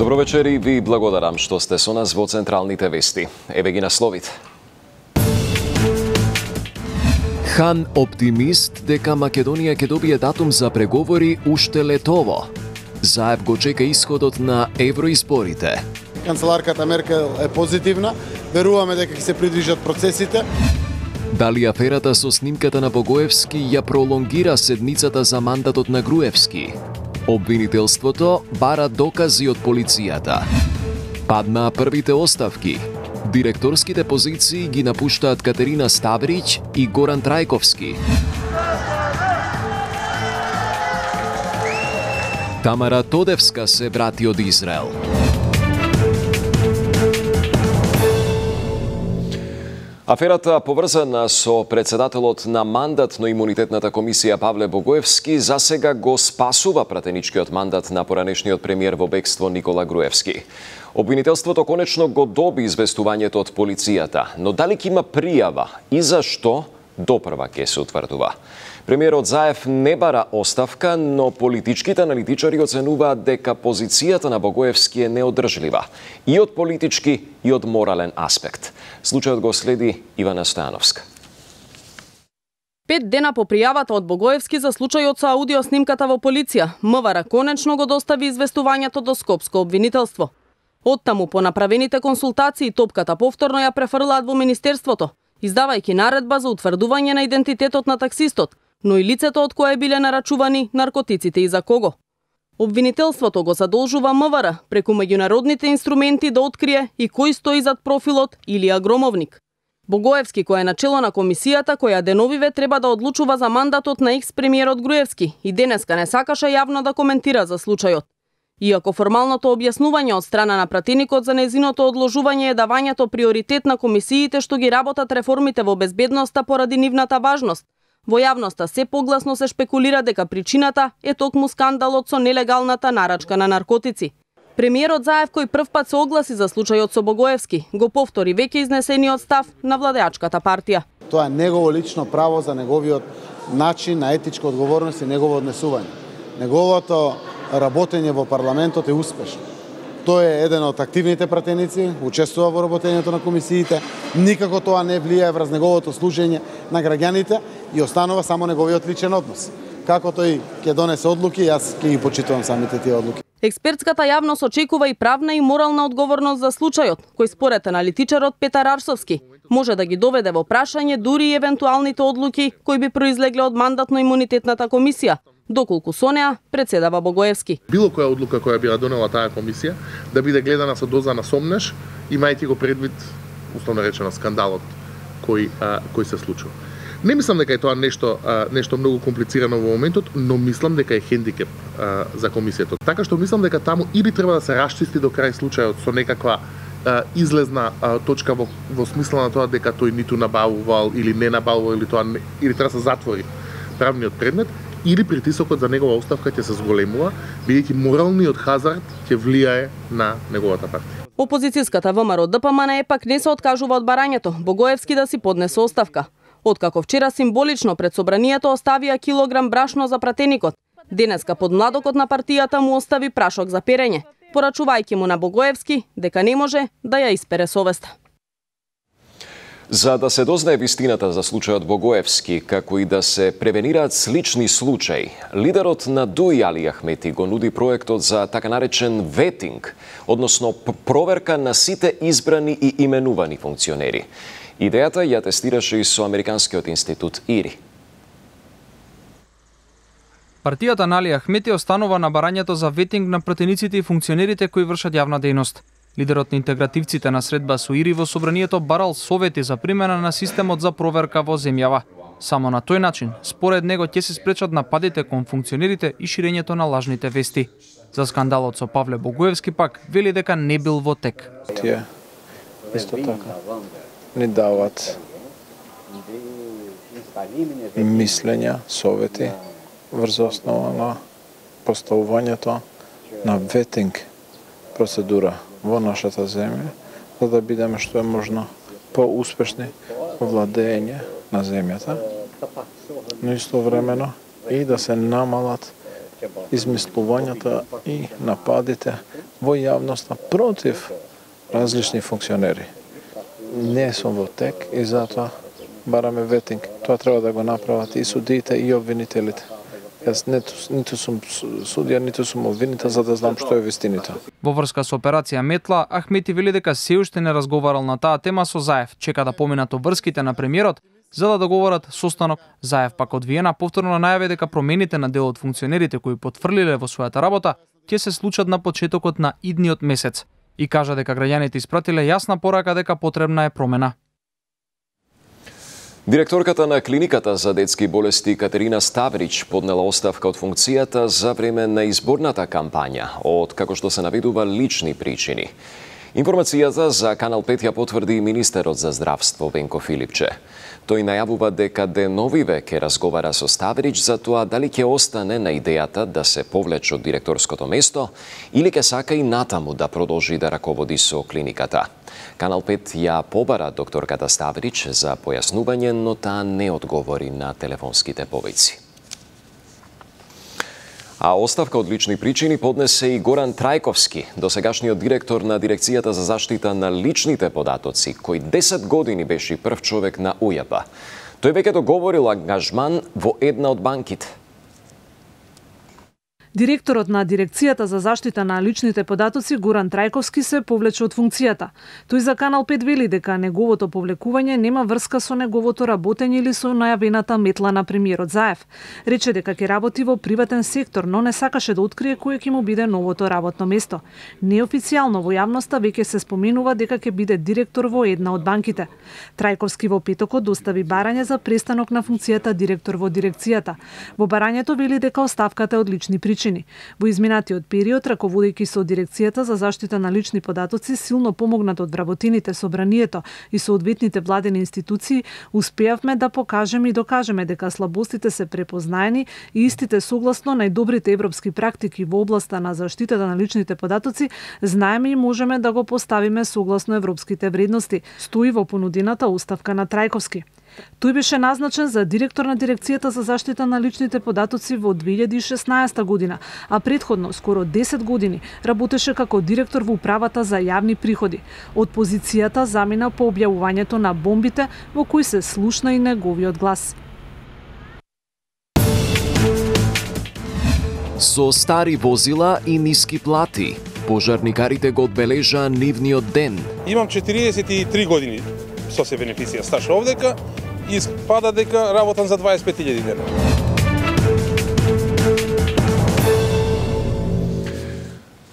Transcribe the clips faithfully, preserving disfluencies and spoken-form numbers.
Добро вечер и ви благодарам што сте со нас во централните вести. Еве ги насловите. Хан оптимист дека Македонија ќе добие датум за преговори уште летово. Заев го чека исходот на евроизборите. Канцеларката Меркел е позитивна, веруваме дека ќе се придрижат процесите. Дали аферата со снимката на Богоевски ја пролонгира седмицата за мандатот на Груевски? Обвинителството бара докази од полицијата. Паднаа првите оставки. Директорските позиции ги напуштаат Катерина Ставрич и Горан Трајковски. Тамара Тодевска се врати од Израел. Аферата поврзана со председателот на мандатно-имунитетната комисија Павле Богоевски засега го спасува пратеничкиот мандат на поранешниот премиер во бегство Никола Груевски. Обвинителството конечно го доби известувањето од полицијата, но дали ќе има пријава и зашто, допрва ќе се утврдува. Премиерот Заев не бара оставка, но политичките аналитичари оценуваат дека позицијата на Богоевски е неодржлива и од политички и од морален аспект. Случајот го следи Ивана Стојановска. Пет дена по пријавата од Богоевски за случајот со аудио снимката во полиција, МВР конечно го достави известувањето до Скопско обвинителство. Оттаму по направените консултации топката повторно ја префрлаат во Министерството, издавајќи наредба за утврдување на идентитетот на таксистот, но и лицето од кое биле нарачувани наркотиците и за кого. Обвинителството го задолжува МВР преку меѓународните инструменти да открие и кој стои зад профилот Илија Громовник. Богоевски, кој е начело на комисијата која деновиве треба да одлучува за мандатот на екс-премиерот Груевски, и денеска не сакаше јавно да коментира за случајот. Иако формалното објаснување од страна на пратеникот за незиното одложување е давањето приоритет на комисиите што ги работат реформите во безбедноста поради нивната важност, во јавноста се погласно се шпекулира дека причината е токму скандалот со нелегалната нарачка на наркотици. Премиерот Заев, кој прв пат се огласи за случајот со Богоевски, го повтори веќе изнесениот став на владеачката партија. Тоа е негово лично право за неговиот начин на етичка одговорност и негово однесување. Неговото работење во парламентот е успешно. Тој е еден од активните пратеници, учествува во работењето на комисиите, никако тоа не влијае врз неговото служење на граѓаните и останува само неговиот личен однос. Како тој ќе донесе одлуки, јас ќе ги почитувам самите тие одлуки. Експертската јавност очекува и правна и морална одговорност за случајот, кој според аналитичарот Петар Арсовски може да ги доведе во прашање дури и евентуалните одлуки кои би произлегле од мандатно-имунитетната комисија, доколку со неа председава Богоевски. Било која одлука која би донела таа комисија да биде гледана со доза на сомнеш, имајќи го предвид, условно речено, скандалот кој а, кој се случува. Не мислам дека е тоа нешто а, нешто многу комплицирано во моментот, но мислам дека е хендикеп а, за комисијата. Така што мислам дека таму или треба да се расчисти до крај случајот со некаква а, излезна а, точка во, во смисла на тоа дека тој ниту набавувал или не набавувал или тоа не, или треба да се затвори правниот предмет, или притисокот за негова оставка ќе се зголемува, бидејќи моралниот хазард ќе влијае на неговата партија. Опозицијската ВМРО ДПМН пак не се откажува од барањето Богоевски да си поднесе оставка. Откако вчера символично пред собранието оставија килограм брашно за пратеникот, денеска под младокот на партијата му остави прашок за перење, порачувајќи му на Богоевски дека не може да ја испере совеста. За да се дознае вистината за случајот Богоевски, како и да се превенираат слични случаи, лидерот на ДУИ Али Ахмети го нуди проектот за така наречен ветинг, односно проверка на сите избрани и именувани функционери. Идејата ја тестираше и со Американскиот институт ИРИ. Партијата на Али Ахмети останува на барањето за ветинг на пратениците и функционерите кои вршат јавна дејност. Лидерот на интегративците на средба со ИРИ во собранието барал совети за примена на системот за проверка во земјава. Само на тој начин, според него, ќе се спречат нападите кон функционерите и ширењето на лажните вести. За скандалот со Павле Богоевски пак вели дека не бил во тек. Тие исто така ни дават мислења, совети врз основа на поставувањето на ветинг процедура во нашата земја, за да бидеме што е можно поуспешни во владење на земјата, но истовремено и да се намалат измислувањата и нападите во јавноста против различни функционери. Не сум во тек и затоа бараме ветинг. Тоа треба да го направат и судиите и обвинителите. Јас ниту, ниту сум судија, ниту сум обвинител за да знам што е вистината. Во врска со операција Метла, Ахмети вели дека се уште не разговарал на таа тема со Заев, чека да поминат обврските на премиерот за да договорат состанок. Заев пак од Виена повторно најави дека промените на дел од функционерите кои потврлиле во својата работа ќе се случат на почетокот на идниот месец и кажа дека граѓаните испратиле јасна порака дека потребна е промена. Директорката на клиниката за детски болести Катерина Ставрич поднела оставка од функцијата за време на изборната кампања од, како што се наведува, лични причини. Информацијата за Канал пет ја потврди министерот за здравство Венко Филипче. Тој најавува дека деновиве ќе разговара со Ставрич за тоа дали ќе остане на идејата да се повлече од директорското место или ќе сака и натаму да продолжи да раководи со клиниката. Канал пет ја побара докторката Ставрич за појаснување, но таа не одговори на телефонските повици. А оставка од лични причини поднесе и Горан Трајковски, досегашниот директор на Дирекцијата за заштита на личните податоци, кој десет години беше прв човек на У Ј П. Тој веќе договорил ангажман во една од банките. Директорот на Дирекцијата за заштита на личните податоци Горан Трајковски се повлече од функцијата. Тој за Канал пет вели дека неговото повлекување нема врска со неговото работење или со најавената метла на премиерот Заев. Рече дека ќе работи во приватен сектор, но не сакаше да открие кој ќе му биде новото работно место. Неофицијално во јавноста веќе се споменува дека ќе биде директор во една од банките. Трајковски во петокот достави барање за престанок на функцијата директор во дирекцијата. Во барањето вели дека оставката е од лични причини. Во изминатиот период, раководејќи со Дирекцијата за заштита на лични податоци, силно помогнат од вработините, собранието и соодветните владени институции, успеавме да покажеме и докажеме дека слабостите се препознаени и истите согласно најдобрите европски практики во областа на заштитата на личните податоци, знаеме и можеме да го поставиме согласно европските вредности, стои во понудената оставка на Трајковски. Тој беше назначен за директор на Дирекцијата за заштита на личните податоци во две илјади и шеснаесета година, а претходно скоро десет години работеше како директор во управата за јавни приходи. Од позицијата замина по објавувањето на бомбите во кои се слушна и неговиот глас. Со стари возила и ниски плати, пожарникарите го одбележа нивниот ден. Имам четириесет и три години со се бенефиција стаж овдека и испада дека работам за дваесет и пет илјади дена.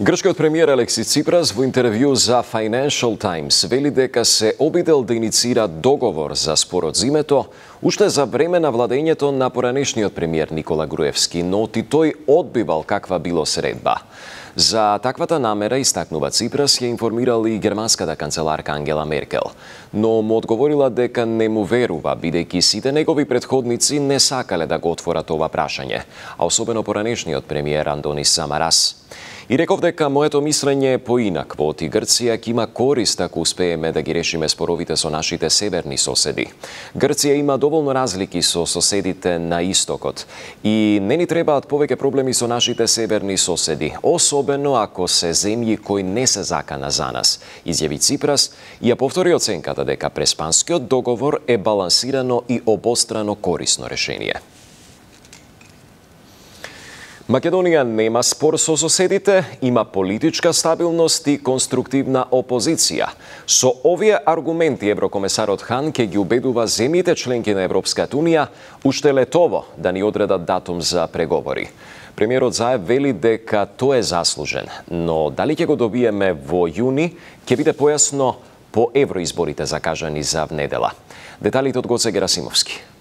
Грчкиот премиер Алексис Ципрас во интервју за Financial Times вели дека се обидел да иницира договор за спорот зимето уште за време на владењето на поранешниот премиер Никола Груевски, но и тој одбивал каква било средба. За таквата намера, истакнува Ципрас, ја информирал и германската канцеларка Ангела Меркел, но му одговорила дека не му верува, бидејќи сите негови претходници не сакале да го отворат ова прашање, а особено поранешниот премиер Андонис Самарас. И реков дека моето мислење е поинакво, и Грција ќе има корист ако успееме да ги решиме споровите со нашите северни соседи. Грција има доволно разлики со соседите на истокот и не ни требаат повеќе проблеми со нашите северни соседи, особено ако се земји кои не се закана за нас, изјави Ципрас и ја повтори оценката дека преспанскиот договор е балансирано и обострано корисно решение. Македонија нема спор со соседите, има политичка стабилност и конструктивна опозиција. Со овие аргументи еврокомесарот Хан ќе ги убедува земјите членки на Европската Унија уште летово да ни одредат датум за преговори. Премиерот Заев вели дека тој е заслужен, но дали ќе го добиеме во јуни, ќе биде појасно по евроизборите закажани за внедела. Деталите од Гоце Герасимовски.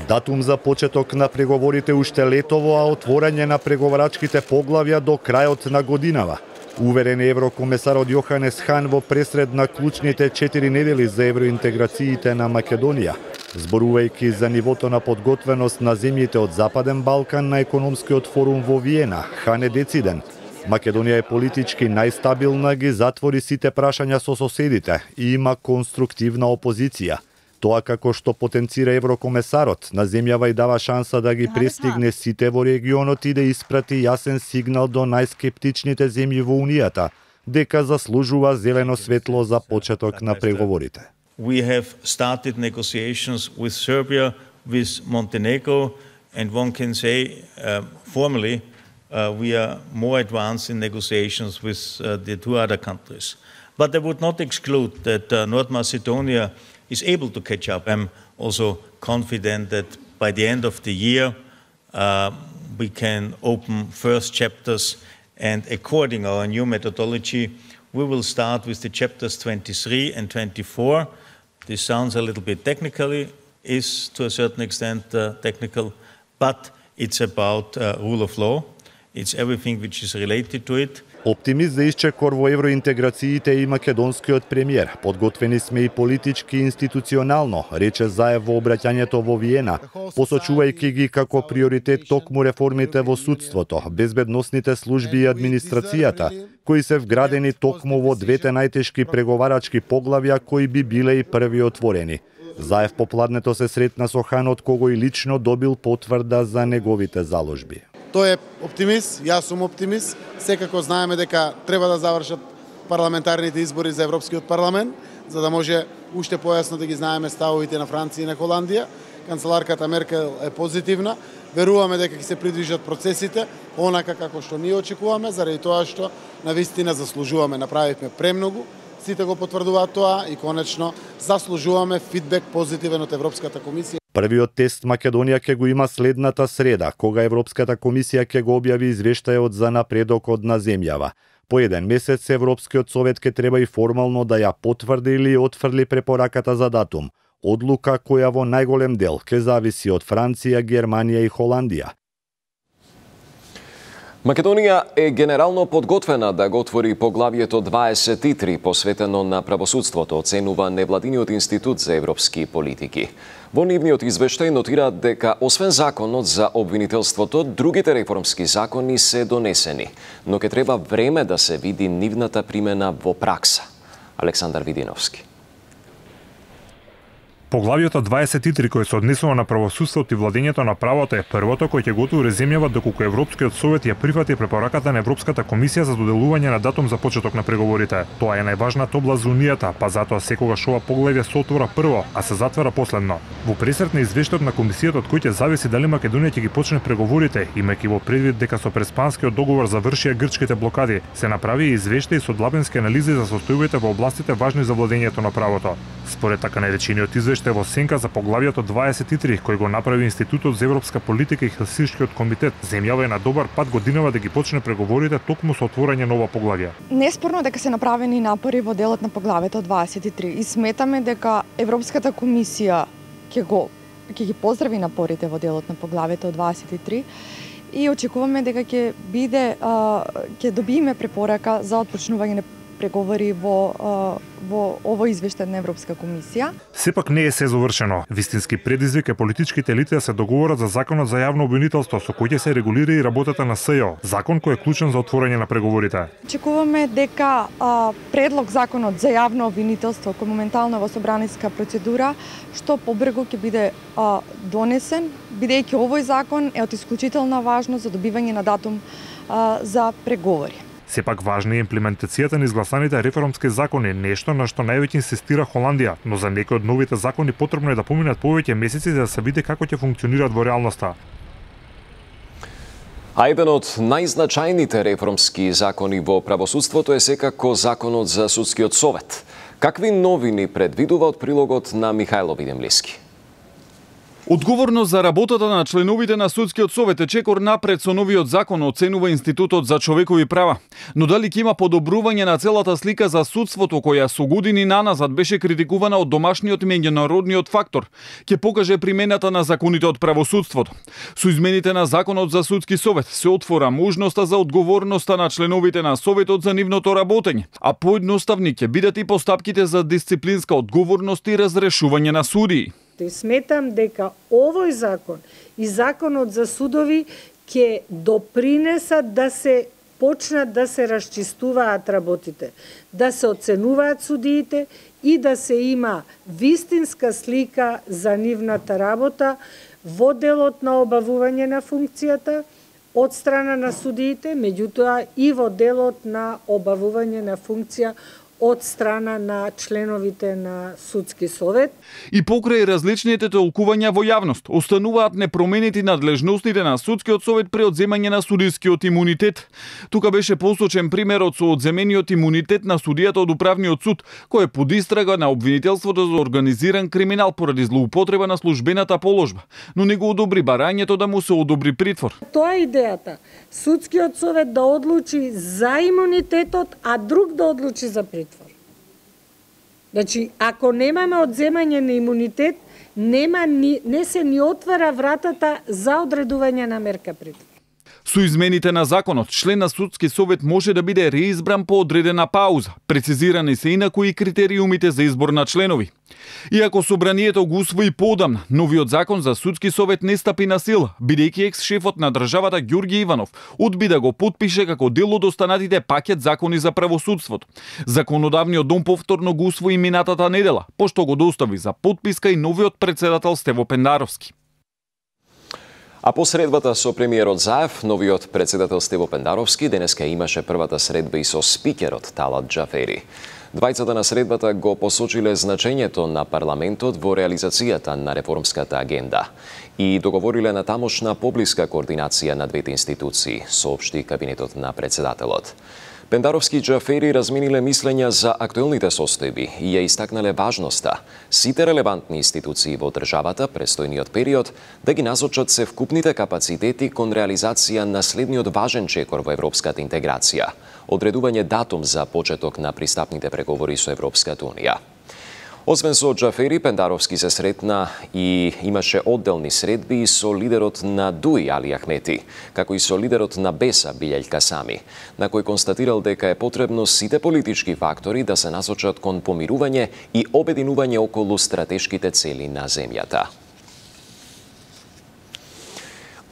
Датум за почеток на преговорите уште летово, а отворање на преговарачките поглавја до крајот на годинава. Уверен е еврокомесарот Јоханес Хан во пресред на клучните четири недели за евроинтеграциите на Македонија. Зборувајќи за нивото на подготвеност на земјите од Западен Балкан на економскиот форум во Виена, Хан е дециден. Македонија е политички најстабилна, ги затвори сите прашања со соседите и има конструктивна опозиција. Тоа како што потенцира еврокомесарот, на земјава и дава шанса да ги престигне сите во регионот и да испрати јасен сигнал до најскептичните земји во Унијата, дека заслужува зелено светло за почеток на преговорите. We have started negotiations with Serbia, with Montenegro, and one can say uh, formally uh, we are more advanced in negotiations with uh, the two other countries. But I would not exclude that uh, North Macedonia is able to catch up. I'm also confident that by the end of the year uh, we can open first chapters, and according to our new methodology we will start with the chapters twenty-three and twenty-four. This sounds a little bit technically, is to a certain extent uh, technical, but it's about uh, rule of law. It's everything which is related to it. Оптимист за исчекор во евроинтеграциите и македонскиот премиер. Подготвени сме и политички и институционално, рече Заев во обраќањето во Виена, посочувајќи ги како приоритет токму реформите во судството, безбедносните служби и администрацијата, кои се вградени токму во двете најтешки преговарачки поглавја кои би биле и први отворени. Заев попладнето се сретна со Ханот, кого и лично добил потврда за неговите заложби. Тој е оптимист, јас сум оптимист. Секако знаеме дека треба да завршат парламентарните избори за Европскиот парламент, за да може уште појасно да ги знаеме ставовите на Франција и на Холандија. Канцеларката Меркел е позитивна. Веруваме дека ќе се придвижат процесите онака како што ние очекуваме, заради тоа што навистина заслужуваме. Направивме премногу, сите го потврдуваат тоа и конечно заслужуваме фидбек позитивен од Европската комисија. Првиот тест Македонија ќе го има следната среда, кога Европската комисија ќе го објави извештајот за напредокот на земјава. По еден месец Европскиот совет ќе треба и формално да ја потврди или отфрли препораката за датум. Одлука која во најголем дел ќе зависи од Франција, Германија и Холандија. Македонија е генерално подготвена да го отвори поглавјето дваесет и три посветено на правосудството, оценува невладиниот институт за европски политики. Во нивниот извештај нотираат дека освен законот за обвинителството, другите реформски закони се донесени, но ќе треба време да се види нивната примена во пракса. Александар Видиновски. Поглавјето дваесет и три кој се однесува на правосудството и владењето на правото е првото кој ќе го отвори земјава доколку Европскиот совет ја прифати препораката на Европската комисија за доделување на датум за почеток на преговорите. Тоа е најважната област за Унијата, па затоа секогаш ова поглавје се отвора прво, а се затвара последно. Во пресрет на извештајот на комисијата од кој ќе зависи дали Македонија ќе ги почне преговорите, имајќи во предвид дека со Преспанскиот договор завршија грчките блокади, се направи и извештај со длабенски анализи за состојбите во областите важни за владењето на правото. Според така наречениот извештај во сенка за поглавјето дваесет и три кој го направи Институтот за европска политика и Хелсиншкиот комитет, земјава е на добар пат годинава да ги почне преговорите токму со отворање нова поглавја. Неспорно дека се направени напори во делот на поглавјето дваесет и три и сметаме дека Европската комисија ќе го ќе ги поздрави напорите во делот на поглавјето дваесет и три и очекуваме дека ќе биде ќе добиеме препорака за отпочнување на преговори во во овој извештај на Европска комисија. Сепак не е се завршено. Вистински предизвик е политичките елити да се договорат за законот за јавно обвинителство со кој ќе се регулира и работата на СЈО, закон кој е клучен за отворање на преговорите. Очекуваме дека а, предлог законот за јавно обвинителство кој моментално во собраниска процедура што побрзо ќе биде а, донесен, бидејќи овој закон е од исклучителна важност за добивање на датум а, за преговори. Сепак важна е имплементацијата на изгласаните реформски закони, нешто на што највеќе инсистира Холандија, но за некои од новите закони потребно е да поминат повеќе месеци за да се види како ќе функционираат во реалноста. А еден од најзначајните реформски закони во правосудството е секако законот за судскиот совет. Какви новини предвидува од прилогот на Михајло Видемлиски? Одговорност за работата на членовите на Судскиот совет е чекор напред со новиот закон, оценува Институтот за човекови права. Но дали ќе има подобрување на целата слика за судството, која со години наназад беше критикувана од домашниот меѓународниот фактор, ќе покаже примената на законите од правосудството. Со измените на Законот за Судски совет се отвора можноста за одговорноста на членовите на Советот за нивното работење, а поедноставни ќе бидат и постапките за дисциплинска одговорност и разрешување на судии. И сметам дека овој закон и законот за судови ќе допринесат да се почнат да се расчистуваат работите, да се оценуваат судиите и да се има вистинска слика за нивната работа во делот на обавување на функцијата од страна на судиите, меѓутоа и во делот на обавување на функција од страна на членовите на Судски совет. И покрај различните толкувања во јавност, остануваат непроменети надлежностите на Судскиот совет при одземање на судискиот имунитет. Тука беше посочен примерот со одземениот имунитет на судијата од Управниот суд, кој е под истрага на обвинителството за организиран криминал поради злоупотреба на службената положба, но не го одобри барањето да му се одобри притвор. Тоа е идејата. Судскиот совет да одлучи за имунитетот, а друг да одлучи за притвор. Значи, ако немаме одземање на имунитет, нема ни, не се ни отвара вратата за одредување на мерка притвор. Со измените на законот, член на Судски совет може да биде реизбран по одредена пауза. Прецизирани се инаку и критериумите за избор на членови. Иако собранието го усвои поодамна, новиот закон за Судски совет не стапи на сила, бидејќи екс-шефот на државата Ѓорѓи Иванов одби да го потпише како дел од останатите пакет закони за правосудството. Законодавниот дом повторно го усвои минатата недела, пошто го достави за потписка и новиот председател Стево Пендаровски. А по средбата со премиерот Заев, новиот председател Стево Пендаровски денеска имаше првата средба и со спикерот Талат Џафери. Двајцата на средбата го посочиле значењето на парламентот во реализацијата на реформската агенда и договориле на тамошна поблиска координација на двете институции, соопшти кабинетот на председателот. Пендаровски и Џафери размениле мислења за актуелните состојби и ја истакнале важноста сите релевантни институции во државата престојниот период да ги насочат се вкупните капацитети кон реализација на следниот важен чекор во европската интеграција – одредување датум за почеток на пристапните преговори со Европската унија. Освен со Џафери, Пендаровски се сретна и имаше одделни средби со лидерот на Дуи Али Ахмети, како и со лидерот на Беса Билјај Касами, на кој констатирал дека е потребно сите политички фактори да се насочат кон помирување и обединување околу стратешките цели на земјата.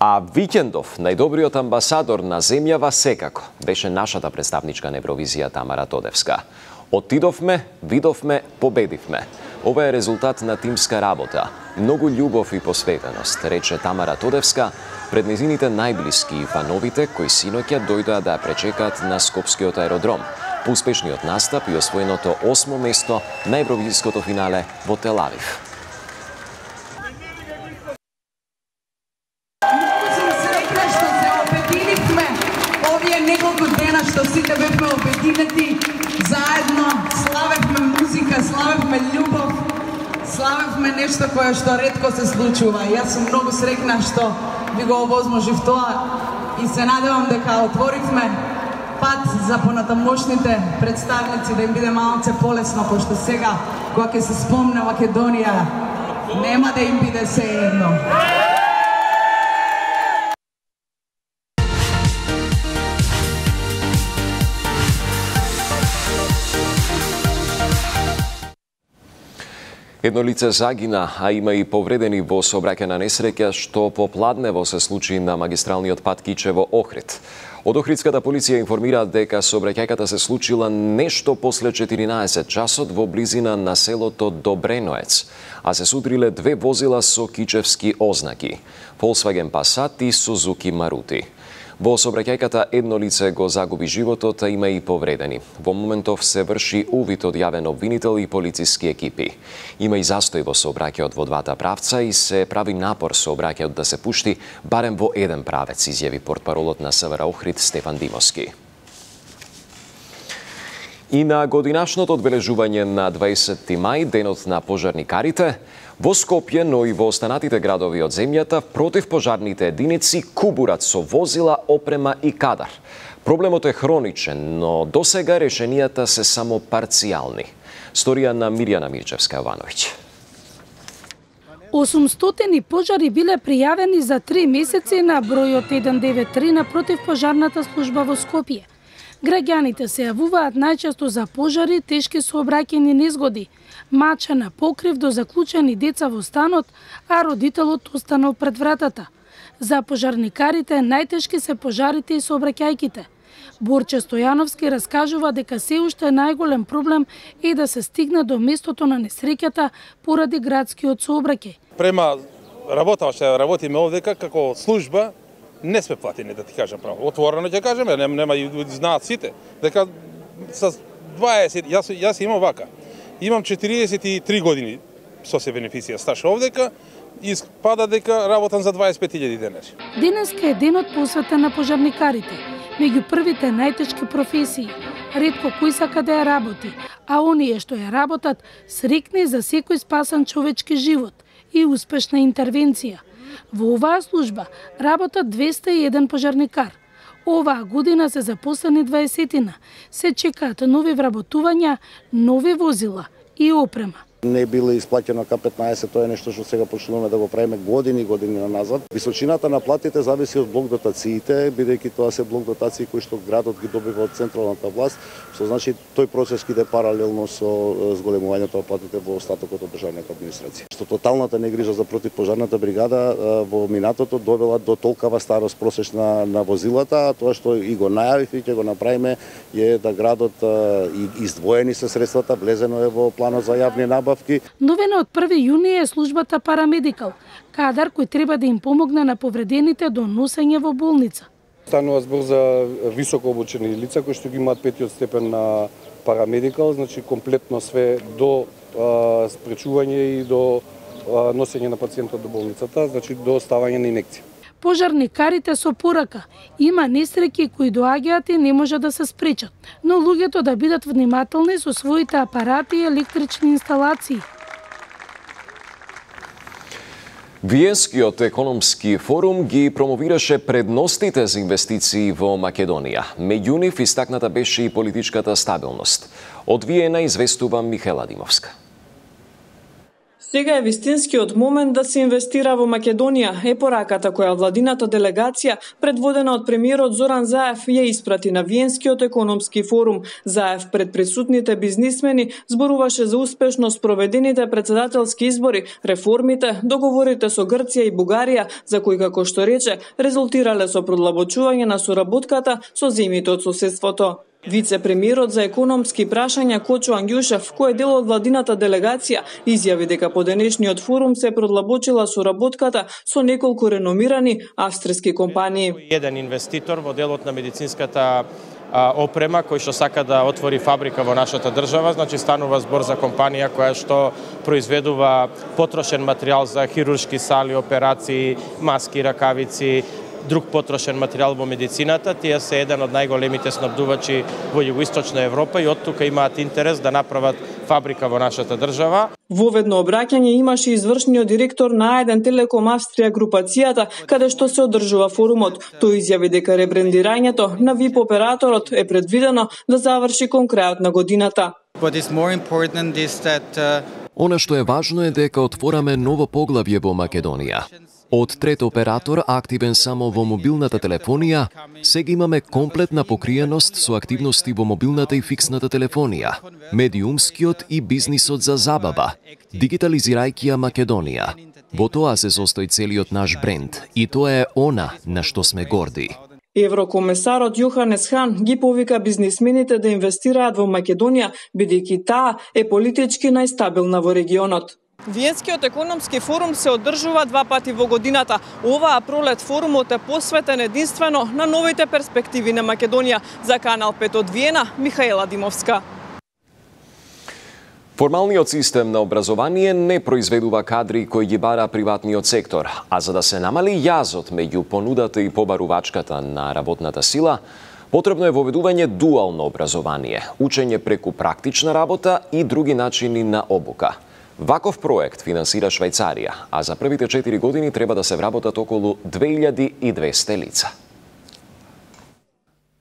А викендов најдобриот амбасадор на земјава секако беше нашата представничка на Евровизија Тамара Тодевска. Отидовме, видовме, победивме. Ова е резултат на тимска работа. Многу љубов и посветеност, рече Тамара Тодевска пред незините најблиски и фановите кои синоќа дојдоа да ја пречекаат на Скопскиот аеродром по успешниот настап и освоеното осмо место на Евровизиското финале во Тел Авив. Многу сум среќна што се обединивме овие неколку дена што сите бевме обединети. Заедно славевме музика, славевме љубов, славевме нешто кое што ретко се случува. Јас сум многу среќна што ви го овозможив тоа и се надевам дека отворивме пат за понатамошните представници да им биде малце полесно, пошто сега кога ќе се спомне Македонија нема да им биде сеедно. Едно лице загина, а има и повредени во сообраќајна несреќа што попладнево се случи на магистралниот пат Кичево-Охрид. Од Охридската полиција информираат дека сообраќајката се случила нешто после четиринаесет часот во близина на селото Добреноец, а се судриле две возила со кичевски ознаки – Volkswagen Passat и Suzuki Maruti. Во сообраќајката едно лице го загуби животот, а има и повредени. Во моментов се врши увид од јавен обвинител и полициски екипи. Има и застој во сообраќајот во двата правца и се прави напор сообраќајот да се пушти барем во еден правец, изјави портпаролот на СВР Охрид Стефан Димовски. И на годинашното одбележување на дваесетти мај, денот на пожарникарите, во Скопје, но и во останатите градови од земјата, противпожарните единици кубурат со возила, опрема и кадар. Проблемот е хроничен, но досега решенијата се само парцијални. Сторија на Мирјана Мирчевска-Јовановиќ. осумстотини пожари биле пријавени за три месеци на бројот еден девет три на противпожарната служба во Скопје. Граѓаните се јавуваат најчесто за пожари, тешки сообраќајни незгоди, мача на покрив до заклучени деца во станот, а родителот останал пред вратата. За пожарникарите најтешки се пожарите и сообраќајките. Борче Стојановски раскажува дека се уште најголем проблем е да се стигне до местото на несреќата поради градскиот сообраќај. Према работа што работиме овдека како служба, не сме платени, да ти кажам право. Отворено ќе кажеме, нема, нема и знаат сите, дека с дваесет, јас, јас имам вака, имам четириесет и три години со се бенефиција стаж овдека, испада дека работам за дваесет и пет илјади денари. Денеска е денот посветен на пожарникарите. Меѓу првите најтешки професии, ретко кој сака да ја работи, а оние што ја работат срекни за секој спасан човечки живот и успешна интервенција. Во оваа служба работат двесте и еден пожарникар. Оваа година се запослени дваесетина. Се чекаат нови вработувања, нови возила и опрема. Не било исплаќено ка петнаесет, тоа е нешто што сега почнуваме да го правиме години години на назад. Височината на платите зависи од блок дотациите, бидејќи тоа се блок дотации кои што градот ги добива од централната власт, што значи тој процес ќе иде паралелно со зголемувањето на платите во остатокот од државната администрација. Што тоталната негрижа за противпожарната бригада во минатото довела до толкава старост просечна на возилата, тоа што и го најавив и ќе го направиме е да градот и издвоени се средствата, влезено е во планот за јавни набавки. Новина од први јуни е службата Парамедикал, кадар кој треба да им помогне на повредените до носење во болница. Станува збор за високо обучени лица кои што ги имаат петиот степен на Парамедикал, значи комплетно све до а, спречување и до а, носење на пациентот до болницата, значи до ставање на инекција. Пожарникарите со порака. Има несреќи кои доаѓаат и не може да се спречат, но луѓето да бидат внимателни со своите апарати и електрични инсталации. Виенскиот економски форум ги промовираше предностите за инвестиции во Македонија. Меѓу нив истакната беше и политичката стабилност. Од Виена известува Михаела Димовска. Сега е вистинскиот момент да се инвестира во Македонија, е пораката која владината делегација, предводена од премиерот Зоран Заев, ја испрати на Виенскиот економски форум. Заев пред присутните бизнисмени зборуваше за успешно спроведените председателски избори, реформите, договорите со Грција и Бугарија, за кои, како што рече, резултирале со продлабочување на соработката со земјите од соседството. Вице-премиерот за економски прашања Кочо Ангјушев, кој е дел од владината делегација, изјави дека по денешниот форум се продлабочила соработката со неколку реномирани австријски компании. Еден инвеститор во делот на медицинската опрема кој што сака да отвори фабрика во нашата држава, значи станува збор за компанија која што произведува потрошен материјал за хируршки сали, операции, маски, ракавици, друг потрошен материјал во медицината. Тие се еден од најголемите снабдувачи во југоисточна Европа и од тука имаат интерес да направат фабрика во нашата држава. Воведно обраќање имаше извршниот директор на А еден Телеком Австрија групацијата, каде што се одржува форумот. Тој изјави дека ребрендирањето на ВИП операторот е предвидено да заврши кон крајот на годината. Она што е важно е дека отвораме ново поглавје во Македонија. Од трет оператор активен само во мобилната телефонија, сега имаме комплетна покриеност со активности во мобилната и фиксната телефонија, медиумскиот и бизнисот за забава, дигитализирајќи ја Македонија. Во тоа се состои целиот наш бренд и тоа е она на што сме горди. Еврокомесарот Јоханес Хан ги повика бизнисмените да инвестираат во Македонија, бидејќи таа е политички најстабилна во регионот. Виенскиот економски форум се одржува два пати во годината. Оваа пролет форумот е посветен единствено на новите перспективи на Македонија. За Канал пет од Виена, Михаела Димовска. Формалниот систем на образование не произведува кадри кои ги бара приватниот сектор, а за да се намали јазот меѓу понудата и побарувачката на работната сила, потребно е воведување дуално образование, учење преку практична работа и други начини на обука. Ваков проект финансира Швајцарија, а за првите четири години треба да се вработат околу две илјади и двесте лица.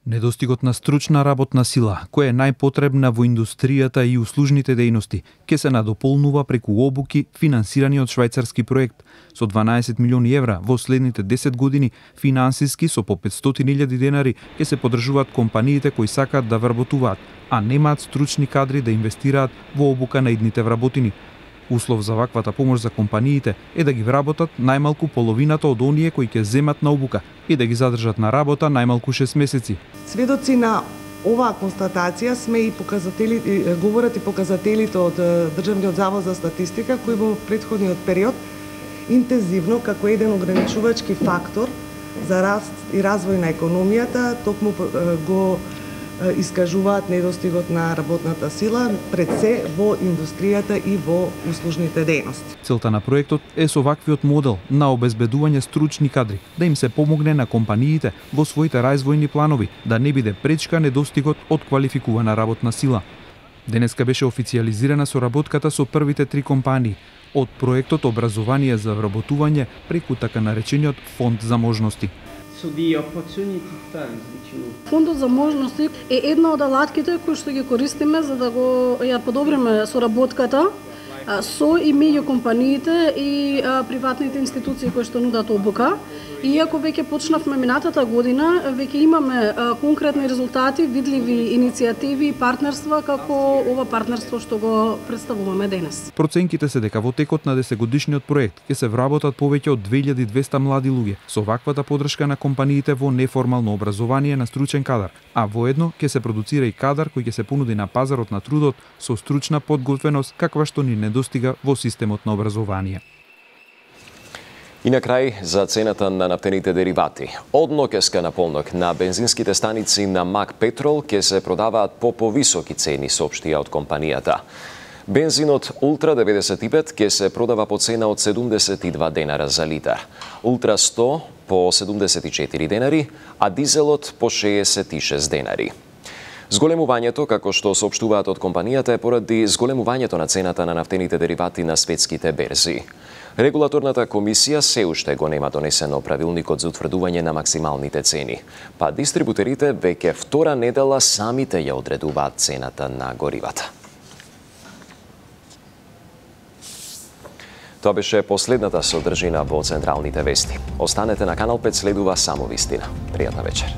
Недостигот на стручна работна сила, која е најпотребна во индустријата и услужните дејности, ќе се надополнува преку обуки финансирани од швајцарски проект. Со дванаесет милиони евра во следните десет години, финансиски со по петстотини илјади денари ќе се поддржуваат компаниите кои сакаат да вработуваат, а немаат стручни кадри да инвестираат во обука на идните вработини. Услов за ваквата помош за компаниите е да ги вработат најмалку половината од оние кои ќе земат на обука и да ги задржат на работа најмалку шест месеци. Сведоци на оваа констатација сме и показатели, говорат и показателите од Државниот завод за статистика, кои во претходниот период интензивно како еден ограничувачки фактор за раст и развој на економијата токму го искажуваат недостигот на работната сила, пред се во индустријата и во услужните дејности. Целта на проектот е со ваквиот модел на обезбедување стручни кадри да им се помогне на компаниите во своите развојни планови, да не биде пречка недостигот од квалификувана работна сила. Денеска беше официјализирана соработката со првите три компании од проектот Образование за вработување преку така наречениот Фонд за можности. Фондот за можности е една од алатките кои што ги користиме за да го ја подобриме соработката со и меѓу компаниите и приватните институции кои што нудат обука. Иако веќе почнавме минатата година, веќе имаме конкретни резултати, видливи иницијативи и партнерства како ова партнерство што го представуваме денес. Проценките се дека во текот на десетгодишниот проект ќе се вработат повеќе од две илјади и двесте млади луѓе со ваквата подршка на компаниите во неформално образование на стручен кадар, а воедно ќе се продуцира и кадар кој ќе се понуди на пазарот на трудот со стручна подготвеност каква што ни недостига во системот на образование. И на крај за цената на нафтените деривати. Од ноќеска на полнок на бензинските станици на Мак Петрол ќе се продаваат по повисоки цени, соопштија од компанијата. Бензинот Ултра деветдесет и пет ќе се продава по цена од седумдесет и два денара за литар, Ултра сто по седумдесет и четири денари, а дизелот по шеесет и шест денари. Зголемувањето, како што соопштуваат од компанијата, е поради зголемувањето на цената на нафтените деривати на светските берзи. Регулаторната комисија се уште го нема донесено правилникот за утврдување на максималните цени, па дистрибутерите веќе втора недела самите ја одредуваат цената на горивата. Тоа беше последната содржина во Централните вести. Останете на Канал пет, следува само вистина. Пријатна вечер.